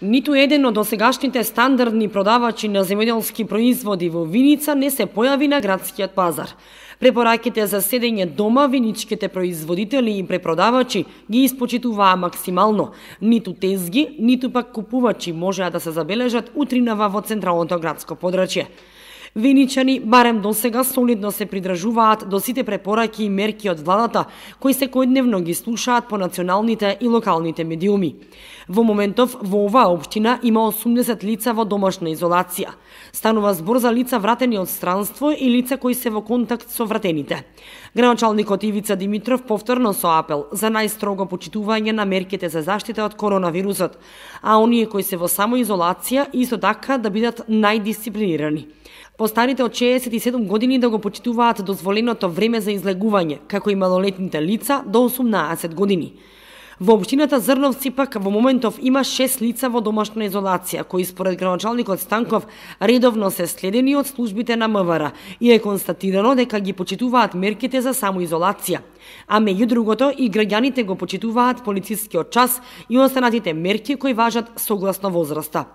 Ниту еден од досегашните стандардни продавачи на земјоделски производи во Виница не се појави на градскиот пазар. Препораките за седење дома виничките производители и препродавачи ги испочитуваа максимално. Ниту тезги, ниту пак купувачи можеа да се забележат утринава во централното градско подрачје. Виничани барем досега солидно се придржуваат до сите препораки и мерки од владата, кои секојдневно ги слушаат по националните и локалните медиуми. Во моментов во оваа општина има 80 лица во домашна изолација. Станува збор за лица вратени од странство и лица кои се во контакт со вратените. Градоначалникот Ивица Димитров повторно со апел за најстрого почитување на мерките за заштита од коронавирусот, а оние кои се во самоизолација исто така да бидат најдисциплинирани. Постарите од 67 години да го почитуваат дозволеното време за излегување, како и малолетните лица до 18 години. Во општината Зрновци пак во моментов има 6 лица во домашна изолација, кои според градоначалникот Станков редовно се следени од службите на МВР и е констатирано дека ги почитуваат мерките за самоизолација. А меѓу другото и граѓаните го почитуваат полицискиот час и останатите мерки кои важат согласно возраста.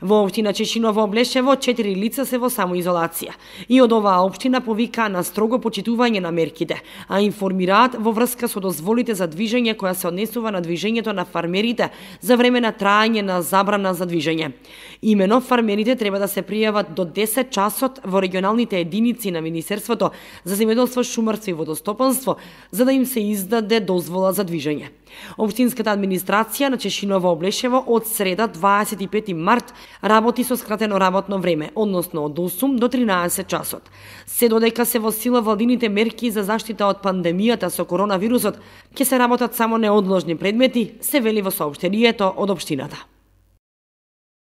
Во општина Чешиново Облешево 4 лица се во самоизолација и од оваа општина повикаа на строго почитување на мерките, а информираат во врска со дозволите за движење која се однесува на движењето на фармерите за време на траење на забрана за движење. Имено фармерите треба да се пријават до 10 часот во регионалните единици на Министерството за земјоделство, шумарство и водостопанство за да им се издаде дозвола за движење. Општинската администрација на Чешиново Облешево од среда 25 март работи со скратено работно време, односно од 8 до 13 часот. Се додека се во сила владините мерки за заштита од пандемијата со коронавирусот, ќе се работат само неодложни предмети, се вели во соопштението од општината.